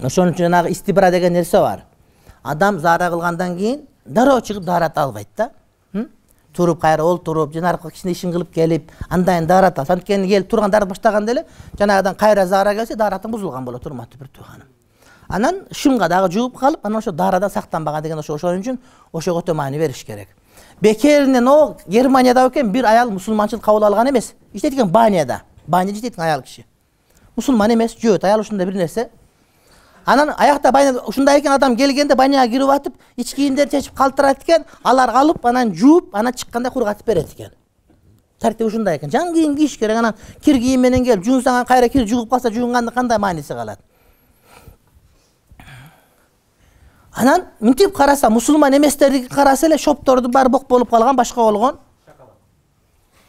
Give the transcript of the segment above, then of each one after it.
Ошон үчүн жанагы истибра деген нерсе бар. Адам заара кылгандан кийин дароо чыгып даарат албайт да. Туруп кайра олтуруп, жанагы кичине ишин кылып келип, андан даарат алат. Анткени келип турган даарат баштаганда эле жанагыдан кайра заара келсе, дааратың бузулган болот, урматтуу бир тууганым. Анан шымга дагы жууп калып, анан ошо даарадан сактанбаган деген ошон үчүн ошого өтө маани бериш керек. Бекеринен о Германияда экен бир аял мусулманчылык кабыл алган эмес. Иштейт экен баняда. Баня иштейт аял киши. Мусулман эмес, жөөт аял ушундай бир нерсе. Анан аякта баня ушундай экен, адам келгенде баняга кирип атып, ич кийимдерди чечип калтырат экен, алар калып, анан жууп, анан чыкканда кургатып берет экен. Тартип ушундай экен. Жан кийим кийиш керек, анан кир кийим менен келип жуунсаң кайра кир жугуп калса жуунгандын кандай мааниси калат? Анан мынтип караса, мусулман эместерди караса эле шопторду баары бок болуп калган, башка болгон.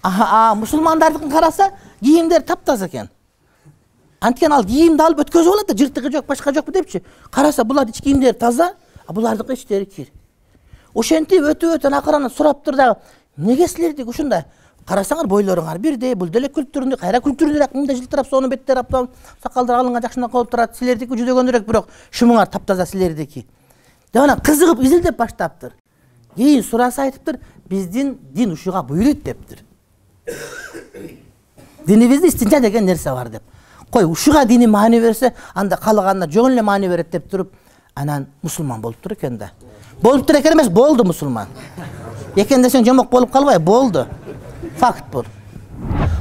Мусулмандардыкын караса, кийимдер таптаза экен. Анткени ал кийимди алып өткөзүп алат да, жыртыгы жок, башка жокпу депчи. Караса булар ич кийимдери таза, а булардыкы ичтери кир. Ошентип өтө акырын сурап тур дагы, эмнеге силердики ушундай? Карасаңар бойлоруңар бирдей, бул деле күлтүрүндө, кайра күлтүрүндөк, мындай жылтырап, сонун беттер аптап, сакалдар алынган жакшына болуп турат. Силердики жүдөгөнүрөөк, бирок шумуңар таптаза силердики. Деп анан кызыгып изилдеп баштаптыр. Кийин сураса айтыптыр, биздин дин ушуга буйруйт дептир. Динибизде истинча деген нерсе бар деп. Кой, ушуга дини маани берсе, анда калганына жөн эле маани берет деп туруп, анан мусулман болуп тур экен да. Болуп тур экен эмес, болду мусулман. Экен десең жомок болуп калбай, болду. Факт бул.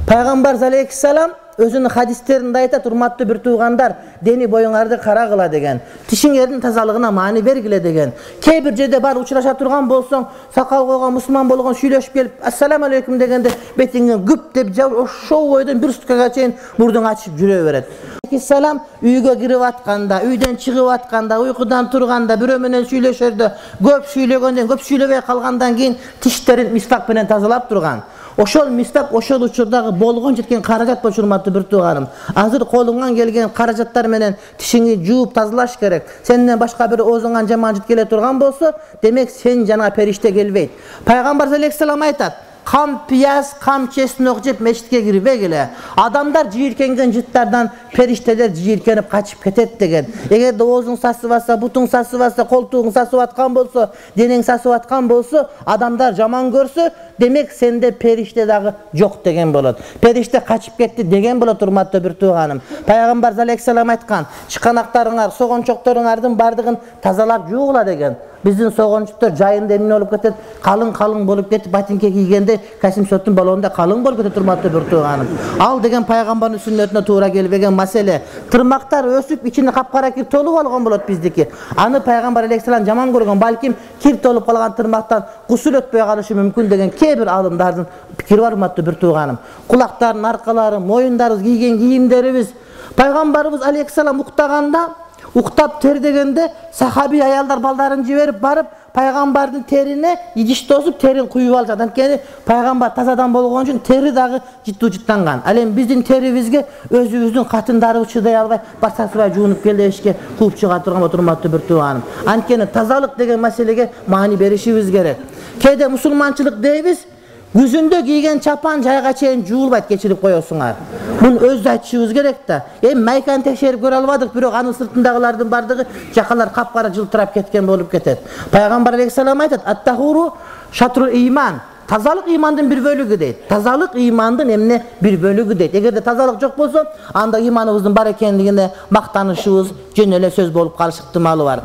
Пайгамбар алейхиссалам өзүнүн хадистеринде айтат, урматтуу бир туугандар, дени боюңарды карагыла деген, тишиңердин тазалыгына маани бергиле деген. Кээ бир жерде бар учураша турган болсоң, сакал койгон мусулман болгон сүйлөшүп келип, ассаламу алейкум дегенде бетиңен гүп деп жабып, ошол бойдон бир суткага чейин мурдуң ачып жүрө берет. Алейхиссалам үйгө кирип атканда, үйдөн чыгып атканда, уйкудан турганда, бирөө менен сүйлөшөрдө, көп сүйлөгөндөн, көп сүйлөбөй калгандан кийин тиштерин мисвак менен тазалап турган. Ошол мисвак ошол учурдагы болгон жеткен каражат болчу, урматтуу бир тууганым. Азыр колуңан келген каражаттар менен тишиңи жууп тазалаш керек. Сенден башка бир оозуңан жаман жит келе турган болсо, демек сен жана периште келбейт. Пайгамбар алейхиссалам айтат: кам пияз, кам чеснок жеп мечитке кирбегиле. Адамдар жийиркенген жыттардан периштелер жийиркенип качып кетет деген. Эгерде оозуң сасып атса, бутуң сасып атса, колтугуң сасып аткан болсо, денең сасып аткан болсо, адамдар жаман көрсө, демек сенде периште дагы жок деген болот. Периште качып кетти деген болот, урматтуу бир тууганым. Пайгамбар алейхиссалам айткан: чыканактарыңар, согончокторуңардын бардыгын тазалап жуугула деген. Биздин согончуктар жайында эмне болуп кетет, калың болуп кетип, ботинке кийгенде Касимсоттун балонунда калың болуп кетет, урматтуу бир тууганым. Ал деген пайгамбардын сүннөтүнө туура келбеген маселе. Тырмактар өсүп, ичине капкара кир толуп алган болот биздики. Аны пайгамбар алейхиссалам жаман көргөн, балким кир толуп калган тырмактан гусул өтпөй калышы мүмкүн деген кээ бир алымдардын пикири бар, урматтуу бир тууганым. Кулактардын аркалары, моюндарыбыз, кийген кийимдерибиз. Пайгамбарыбыз алейхиссалам уктаганда, уктап тердегенде сахаби аялдар балдарын жиберип барып, пайгамбардын терине идиш тосуп, терин куюп алышат. Анткени пайгамбар тазадан болгон үчүн тери дагы життүү жыттанган. Ал эми биздин терибизге өзүбүздүн катындарыбыз чыдай албай, басасыбай жуунуп кел дешке кууп чыга турган болот, урматтуу бир тууганым. Анткени тазалык деген маселеге маани беришибиз керек. Кээде мусулманчылык дейбиз, күзүндө кийген чапан жайга чейин жуулбайт, кечирип коесуңар. Муну өзү айтышыбыз керек да. Эми майканы текшерип көрө албадык, бирок анын сыртындагылардын бардыгы жакалар капкара жылтырап кеткен болуп кетет. Пайгамбар алейхиссалам айтат: ат-тахуру шатрул иман. Тазалык имандын бир бөлүгү дейт. Тазалык имандын эмне бир бөлүгү дейт. Эгерде тазалык жок болсо, анда иманыбыздын бар экендигине мактанышыбыз жөн эле сөз болуп калышы ыктымалы бар.